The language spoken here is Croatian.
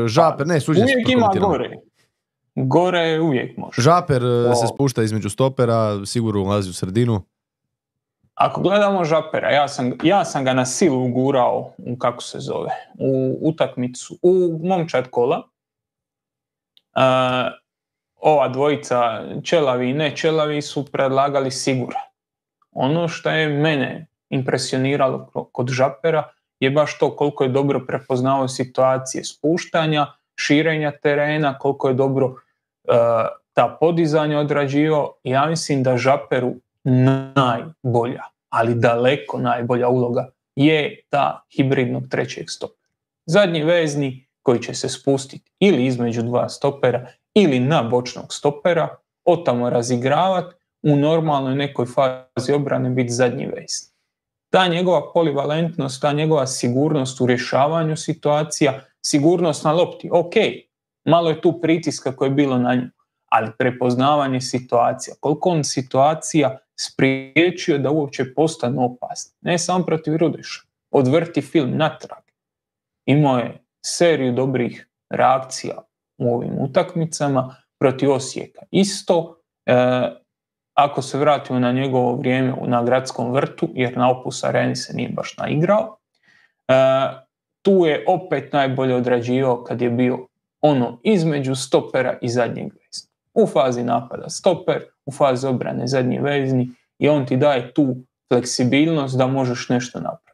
Žaper, ne, suđenje se uvijek ima gore. Gore uvijek može. Žaper se spušta između stopera, sigurno ulazi u sredinu. Ako gledamo Žapera, ja sam ga na silu ugurao u utakmicu, u momčad kola. Ova dvojica Čelavi i ne Čelavi su predlagali Sigura. Ono što je mene impresioniralo kod Žapera je baš to koliko je dobro prepoznao situacije spuštanja, širenja terena, koliko je dobro ta podizanja odrađivao. Ja mislim da Žaperu najbolja, ali daleko najbolja uloga je ta hibridnog trećeg stopera. Zadnji vezni koji će se spustiti ili između dva stopera ili na bočnog stopera, otamo razigravati, u normalnoj nekoj fazi obrane biti zadnji vezni. Ta njegova polivalentnost, ta njegova sigurnost u rješavanju situacija, sigurnost na lopti, ok, malo je tu pritiska koje je bilo na nju, ali prepoznavanje situacija, koliko on situacija spriječio da uopće postane opasno. Ne samo protiv Rudeša, odvrti film natrag. Imao je seriju dobrih reakcija u ovim utakmicama protiv Osijeka. Isto, ako se vratimo na njegovo vrijeme na Gradskom vrtu, jer na Opus Areni se nije baš naigrao, tu je opet najbolje odrađivao kad je bio ono između stopera i zadnjeg vezni. U fazi napada stoper, u fazi obrane zadnji vezni i on ti daje tu fleksibilnost da možeš nešto napraviti.